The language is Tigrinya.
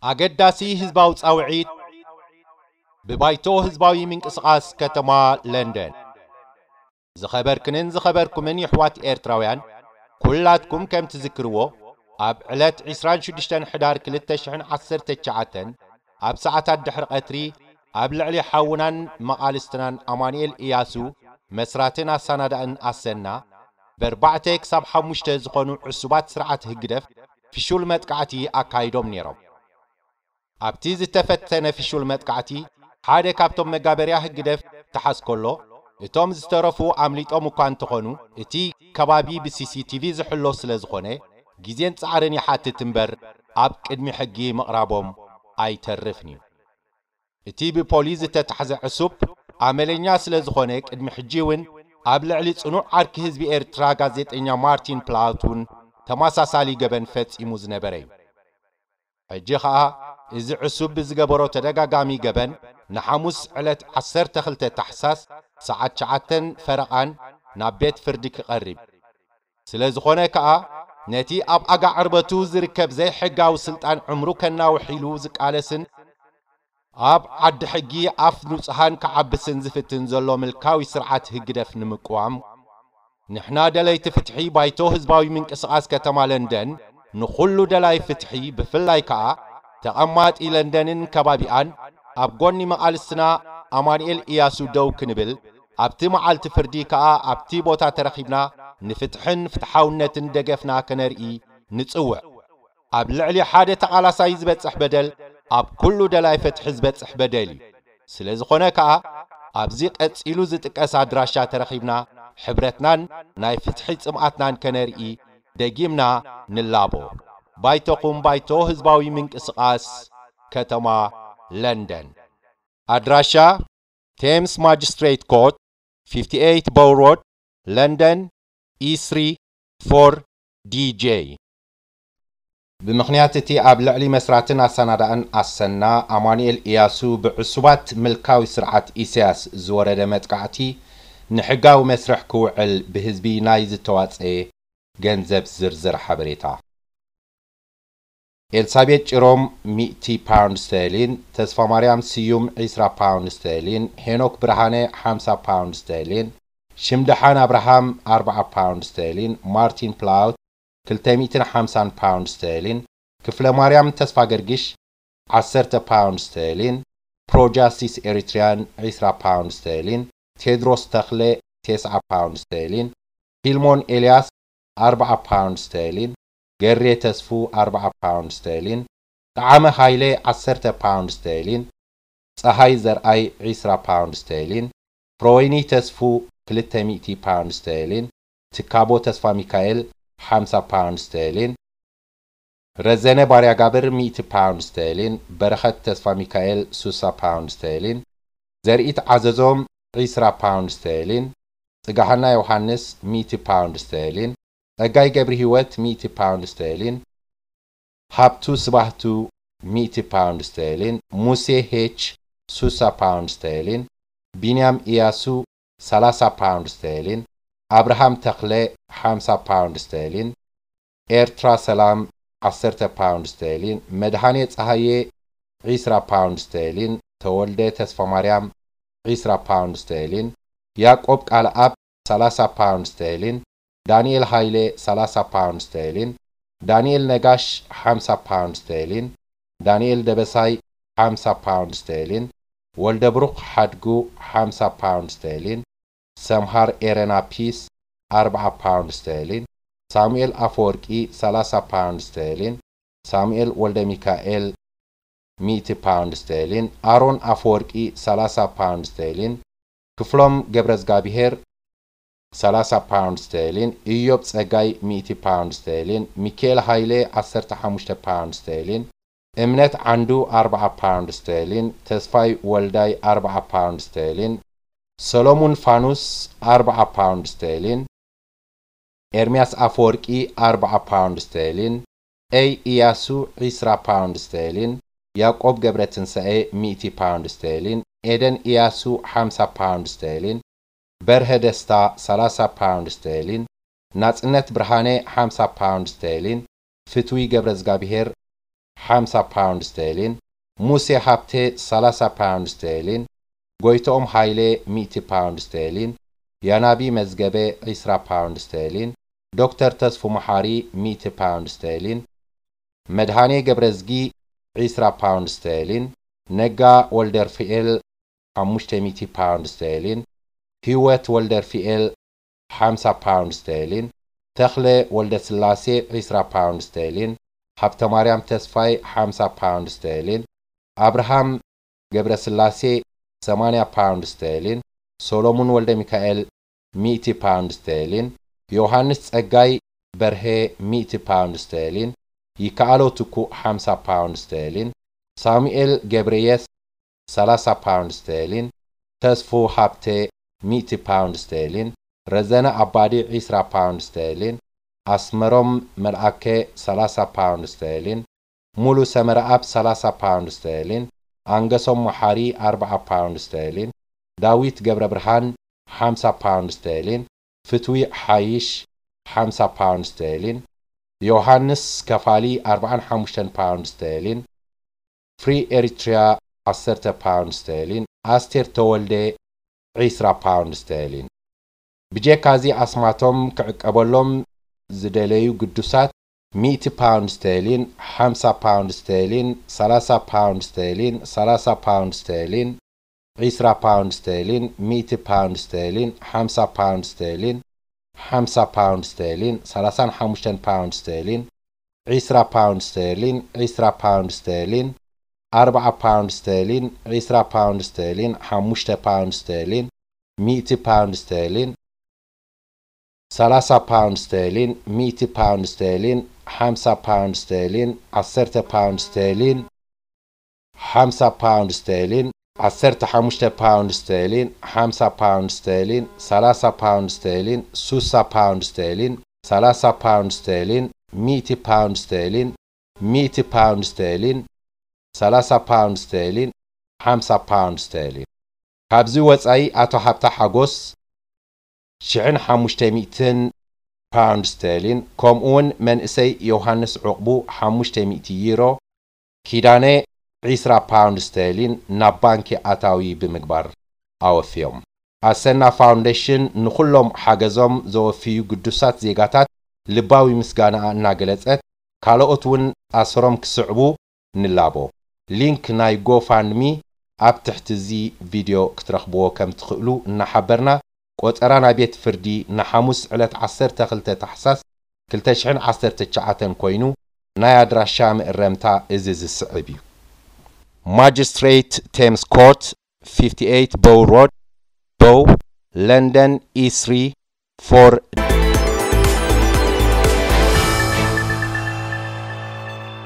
ኣገዳሲ ህዝባዊ ጻውዒት ብባይቶ ህዝባዊ ምንቅስቓስ ከተማ ለንደን። ዝኸበርክንን ዝኸበርኩምን የሕዋት ኤርትራውያን፣ ኩላትኩም ከም ትዝክርዎ፣ ኣብ ዕለት ዕስራን ሽዱሽተን ሕዳር ክልተ ሽሕን ዓሰርተ ትሽዓተን ኣብ ሰዓታት ድሕሪ ቀትሪ ኣብ ልዕሊ ሓውናን መቓልስትናን ኣማኑኤል እያሱ፣ መስራትን ኣሰናዳእን ኣሰና፣ ብኣርባዕተ ክሳብ ሓሙሽተ ዝኾኑ ዕሱባት ስርዓት ህግደፍ ፍሹል መጥቃዕቲ ኣካይዶም ነይሮም። ኣብቲ ዝተፈተነ ፍሹል መጥቃዕቲ ሓደ ካብቶም መጋበርያ ህግደፍ ተሓዝ ከሎ፣ እቶም ዝተረፉ ኣምሊጦም እኳ እንተኾኑ፣ እቲ ከባቢ ብሲሲቲቪ ዝሕሎ ስለ ዝኾነ፣ ግዜን ጻዕርን ይሓትት እምበር ኣብ ቅድሚ ሕጊ ምቕራቦም ኣይተርፍን እዩ። እቲ ብፖሊስ ዝተታሕዘ ዕሱብ ኣመለኛ ስለ ዝኾነ፣ ቅድሚ ሕጂ እውን ኣብ ልዕሊ ጽኑዕ ዓርኪ ህዝቢ ኤርትራ ጋዜጠኛ ማርቲን ፕላውት እውን ተመሳሳሊ ገበን ፈጺሙ ዝነበረ እዩ። ሕጂ ኸኣ እዚ ዕሱብ ብዝገበሮ ተደጋጋሚ ገበን ንሓሙስ ዕለት ዓሰርተ ክልተ ታሕሳስ ሰዓት ትሽዓተን ፈረቓን ናብ ቤት ፍርዲ ክቐርብ። ስለ ዝኾነ ከኣ ነቲ ኣብ ኣጋ ዕርበቱ ዝርከብ ዘይሕጋዊ ስልጣን ዕምሩ ከናውሕ ኢሉ ዝቃለስን ኣብ ዓዲ ሕጊ ኣፍ ንጹሃን ክዓብስን ዝፍትን ዘሎ ምልካዊ ስርዓት ህግደፍ ንምቅዋም፣ ንሕና ደለይቲ ፍትሒ ባይቶ ህዝባዊ ምንቅስቓስ ከተማ ለንደን ንኹሉ ደላይ ፍትሒ፣ ብፍላይ ከኣ ተቐማጢ ለንደንን ከባቢኣን ኣብ ጎኒ መቓልስትና ኣማኑኤል እያሱ ደው ክንብል፣ ኣብቲ መዓልቲ ፍርዲ ከኣ ኣብቲ ቦታ ተረኺብና ንፍትሕን ፍትሓውነትን ደገፍና ከነርኢ ንጽውዕ። ኣብ ልዕሊ ሓደ ተቓላሳይ ዝበጽሕ በደል ኣብ ኩሉ ደላይ ፍትሒ ዝበጽሕ በደል እዩ። ስለ ዝኾነ ከኣ ኣብዚ ቀጺሉ ዝጥቀስ ኣድራሻ ተረኺብና ሕብረትናን ናይ ፍትሒ ጽምኣትናን ከነርኢ ደጊምና ንላቦ። ባይቶኹም ባይቶ ህዝባዊ ምንቅስቓስ ከተማ ለንደን። ኣድራሻ ቴምስ ማጅስትሬት ኮርት፣ ፊፍቲ ኤይት ቦው ሮድ፣ ለንደን፣ ኢ ስሪ ፎር ዲ ጄ። ብምኽንያት እቲ ኣብ ልዕሊ መስራትን ኣሰናዳእን ኣሰና ኣማኑኤል እያሱ ብዕሱባት ምልካዊ ስርዓት ኢሳያስ ዝወረደ መጥቃዕቲ ንሕጋዊ መስርሕ ክውዕል ብህዝቢ ናይ ዝተዋጸኤ ገንዘብ ዝርዝር ሓበሬታ። ኤልሳቤጥ ጭሮም ሚእቲ ፓውንድ ስተርሊን፣ ተስፋማርያም ስዩም ዒስራ ፓውንድ ስተርሊን፣ ሄኖክ ብርሃነ ሓምሳ ፓውንድ ስተርሊን፣ ሽምደሓን ኣብርሃም ኣርብዓ ፓውንድ ስተርሊን፣ ማርቲን ፕላውት ክልተ ሚእትን ሓምሳን ፓውንድ ስተርሊን፣ ክፍለማርያም ተስፋገርግሽ ዓሰርተ ፓውንድ ስተርሊን፣ ፕሮጃስቲስ ኤሪትሪያን ዒስራ ፓውንድ ስተርሊን፣ ቴድሮስ ተኽለ ተስዓ ፓውንድ ስተርሊን፣ ፊልሞን ኤልያስ ኣርብዓ ፓውንድ ስተርሊን፣ ገሬ ተስፉ ኣርብዓ ፓውንድ ስተርሊን፣ ጠዓመ ሃይለ ዓሰርተ ፓውንድ ስተርሊን፣ ጸሃይ ዘርኣይ ዒስራ ፓውንድ ስተርሊን፣ ፍረወይኒ ተስፉ ክልተ ሚእቲ ፓውንድ ስተርሊን፣ ትካቦ ተስፋሚካኤል ሓምሳ ፓውንድ ስተርሊን፣ ረዘነ ባርያጋብር ሚእቲ ፓውንድ ስተርሊን፣ በረኸት ተስፋሚካኤል ሱሳ ፓውንድ ስተርሊን፣ ዘርኢት ዓዘዞም ዒስራ ፓውንድ ስተርሊን፣ ጽጋሃና ዮሃንስ ሚእቲ ፓውንድ ስተርሊን፣ ጸጋይ ገብርሂወት ሚእቲ ፓውንድ ስተርሊን፣ ሃብቱ ስባህቱ ሚእቲ ፓውንድ ስተርሊን፣ ሙሴ ሄች ሱሳ ፓውንድ ስተርሊን፣ ቢንያም ኢያሱ ሰላሳ ፓውንድ ስተርሊን፣ ኣብርሃም ተኽለ ሓምሳ ፓውንድ ስተርሊን፣ ኤርትራ ሰላም ዓሰርተ ፓውንድ ስተርሊን፣ መድሃኔ ጸሃየ ዒስራ ፓውንድ ስተርሊን፣ ተወልደ ተስፋማርያም ዒስራ ፓውንድ ስተርሊን፣ ያዕቆብ ቃልኣብ ሰላሳ ፓውንድ ስተርሊን፣ ዳንኤል ሃይለ ሰላሳ ፓውንድ ስተርሊን፣ ዳንኤል ነጋሽ ሓምሳ ፓውንድ ስተርሊን፣ ዳንኤል ደበሳይ ሓምሳ ፓውንድ ስተርሊን፣ ወልደብሩኽ ሓድጉ ሓምሳ ፓውንድ ስተርሊን፣ ሰምሃር ኤረና ፒስ ኣርብዓ ፓውንድ ስተርሊን፣ ሳሙኤል ኣፈወርቂ ሰላሳ ፓውንድ ስተርሊን፣ ሳሙኤል ወልደሚካኤል ሚእቲ ፓውንድ ስተርሊን፣ ኣሮን ኣፈወርቂ ሰላሳ ፓውንድ ስተርሊን፣ ክፍሎም ገብረዝጋብሄር ሰላሳ ፓውንድ ስተርሊን፣ ኢዮብ ጸጋይ ሚእቲ ፓውንድ ስተርሊን፣ ሚካኤል ሃይለ ዓሰርተ ሓሙሽተ ፓውንድ ስተርሊን፣ እምነት ዓንዱ ኣርብዓ ፓውንድ ስተርሊን፣ ተስፋይ ወልዳይ ኣርብዓ ፓውንድ ስተርሊን፣ ሰሎሙን ፋኑስ ኣርብዓ ፓውንድ ስተርሊን፣ ኤርምያስ ኣፈወርቂ ኣርብዓ ፓውንድ ስተርሊን፣ ኤይ ኢያሱ ዒስራ ፓውንድ ስተርሊን፣ ያዕቆብ ገብረትንሳኤ ሚእቲ ፓውንድ ስተርሊን፣ ኤደን ኢያሱ ሓምሳ ፓውንድ ስተርሊን፣ በርሀ ደስታ ሰላሳ ፓውንድ ስተርሊን፣ ናጽነት ብርሃነ ሓምሳ ፓውንድ ስተርሊን፣ ፍትዊ ገብረዝጋብሄር ሓምሳ ፓውንድ ስተርሊን፣ ሙሴ ሃብቴ ሰላሳ ፓውንድ ስተርሊን፣ ጎይትኦም ሃይለ ሚእቲ ፓውንድ ስተርሊን፣ ያናቢ መዝገበ ዒስራ ፓውንድ ስተርሊን፣ ዶክተር ተስፉ መሓሪ ሚእቲ ፓውንድ ስተርሊን፣ መድሃኔ ገብረዝጊ ዒስራ ፓውንድ ስተርሊን፣ ነጋ ወልደርፍኤል ሓሙሽተ ሚእቲ ፓውንድ ስተርሊን፣ ህይወት ወልደርፍኤል ሓምሳ ፓውንድ ስተርሊን፣ ተኽለ ወልደስላሴ ዒስራ ፓውንድ ስተርሊን፣ ሃብተማርያም ተስፋይ ሓምሳ ፓውንድ ስተርሊን፣ ኣብርሃም ገብረስላሴ ሰማንያ ፓውንድ ስተርሊን፣ ሶሎሙን ወልደሚካኤል ሚእቲ ፓውንድ ስተርሊን፣ ዮሃንስ ጸጋይ በርሄ ሚእቲ ፓውንድ ስተርሊን፣ ይከኣሎ ትኩእ ሓምሳ ፓውንድ ስተርሊን፣ ሳሙኤል ገብረየስ ሰላሳ ፓውንድ ስተርሊን፣ ተስፉ ሃብተ ሚእቲ ፓውንድ ስተርሊን፣ ረዘነ ኣባዲ ዒስራ ፓውንድ ስተርሊን፣ ኣስመሮም መልኣከ ሰላሳ ፓውንድ ስተርሊን፣ ሙሉ ሰመረኣብ ሰላሳ ፓውንድ ስተርሊን፣ ኣንገሶም መሓሪ ኣርብዓ ፓውንድ ስተርሊን፣ ዳዊት ገብረብርሃን ሓምሳ ፓውንድ ስተርሊን፣ ፍትዊ ሓይሽ ሓምሳ ፓውንድ ስተርሊን፣ ዮሃንስ ከፋሊ ኣርብዓን ሓሙሽተን ፓውንድ ስተርሊን፣ ፍሪ ኤሪትሪያ ዓሰርተ ፓውንድ ስተርሊን፣ ኣስቴር ተወልደ ዒስራ ፓውንድ ስተርሊን። ብጀካዚ ኣስማቶም ክዕቀበሎም ዝደለዩ ግዱሳት ሚእቲ ፓውንድ ስተርሊን፣ ሓምሳ ፓውንድ ስተርሊን፣ ሰላሳ ፓውንድ ስተርሊን፣ ሰላሳ ፓውንድ ስተርሊን፣ ዒስራ ፓውንድ ስተርሊን፣ ሚእቲ ፓውንድ ስተርሊን፣ ሓምሳ ፓውንድ ስተርሊን፣ ሓምሳ ፓውንድ ስተርሊን፣ ሰላሳን ሓሙሽተን ፓውንድ ስተርሊን፣ ዒስራ ፓውንድ ስተርሊን፣ ዒስራ ፓውንድ ስተርሊን፣ ኣርብዓ ፓውንድ ስተርሊን፣ ዒስራ ፓውንድ ስተርሊን፣ ሓሙሽተ ፓውንድ ስተርሊን፣ ሚእቲ ፓውንድ ስተርሊን፣ ሰላሳ ፓውንድ ስተርሊን፣ ሚእቲ ፓውንድ ስተርሊን፣ ሓምሳ ፓውንድ ስተርሊን፣ ዓሰርተ ፓውንድ ስተርሊን፣ ሓምሳ ፓውንድ ስተርሊን፣ ዓሰርተ ሓሙሽተ ፓውንድ ስተርሊን፣ ሓምሳ ፓውንድ ስተርሊን፣ ሰላሳ ፓውንድ ስተርሊን፣ ሱሳ ፓውንድ ስተርሊን፣ ሰላሳ ፓውንድ ስተርሊን፣ ሚእቲ ፓውንድ ስተርሊን፣ ሚእቲ ፓውንድ ስተርሊን፣ ሰላሳ ፓውንድ ስተርሊን፣ ሓምሳ ፓውንድ ስተርሊን። ካብዚ ወጻኢ ኣቶ ሃብታ ሓጎስ ሽሕን ሓሙሽተ ሚእትን ፓውንድ ስተርሊን፣ ከምኡውን መንእሰይ ዮሃንስ ዑቕቡ ሓሙሽተ ሚእቲ ዩሮ፣ ኪዳነ ዒስራ ፓውንድ ስተርሊን ናብ ባንኪ ኣታዊ ብምግባር ኣወፍዮም። ኣሰና ፋውንዴሽን ንኹሎም ሓገዞም ዘወፍዩ ግዱሳት ዜጋታት ልባዊ ምስጋናኣ እናገለጸት፣ ካልኦት እውን ኣሰሮም ክስዕቡ ንላቦ። ሊንክ ናይ ጎፋንድሚ ኣብ ትሕቲ እዚ ቪድዮ ክትረኽብዎ ከም ትኽእሉ እናሓበርና፣ ቆጸራ ናይ ቤት ፍርዲ ንሓሙስ ዕለት ዓሰርተ ክልተ ታሕሳስ ክልተ ሽሕን ዓሰርተ ትሽዓተን ኮይኑ፣ ናይ ኣድራሻ ምእረምታ እዚ ዝስዕብ እዩ። ማጅስትሬት ቴምስ ኮርት፣ ፊፍቲ ኤይት ቦው ሮድ፣ ቦው፣ ለንደን ኢ ስሪ ፎር